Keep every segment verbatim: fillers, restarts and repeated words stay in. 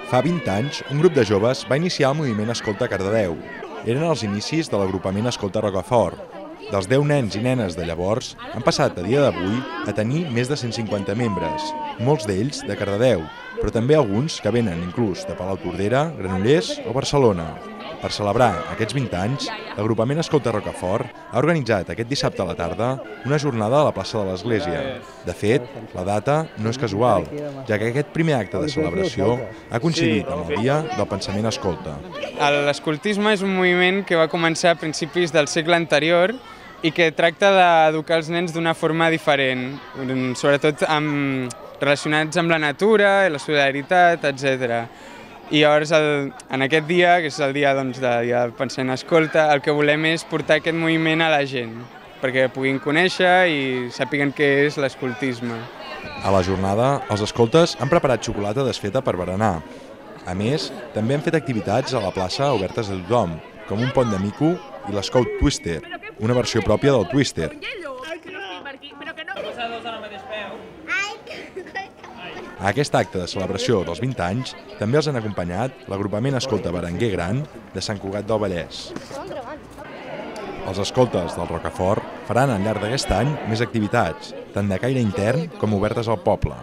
Fa vint anys, un grup de joves va iniciar el moviment Escolta Cardedeu. Eren els inicis de l'agrupament Escolta Rocafort. Dels deu nens i nenes de llavors, han passat a dia d'avui a tenir més de cent cinquanta membres, molts d'ells de Cardedeu, però també alguns que venen inclús de Palautordera, Granollers o Barcelona. Per celebrar aquests vint anys, l'agrupament Escolta Rocafort ha organitzat aquest dissabte a la tarda una jornada a la plaça de l'Església. De fet, la data no és casual, ja que aquest primer acte de celebració ha coincidit amb el dia del pensament escolta. L'escoltisme és un moviment que va començar a principis del segle anterior i que tracta d'educar els nens d'una forma diferent, sobretot amb, relacionats amb la natura, la solidaritat, etcètera. I llavors, el, en aquest dia, que és el dia, doncs, de, dia del pensament escolta, el que volem és portar aquest moviment a la gent, perquè puguin conèixer i sàpiguen què és l'escoltisme. A la jornada, els escoltes han preparat xocolata desfeta per berenar. A més, també han fet activitats a la plaça obertes a tothom, com un pont de mico i l'Scout Twister, una versió pròpia del Twister. A aquest acte de celebració dels vint anys també els han acompanyat l'agrupament Escolta Berenguer Gran de Sant Cugat del Vallès. Els escoltes del Rocafort faran al llarg d'aquest any més activitats, tant de caire intern com obertes al poble.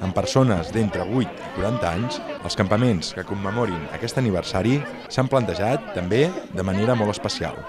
En persones d'entre vuit i quaranta anys, els campaments que commemorin aquest aniversari s'han plantejat també de manera molt especial.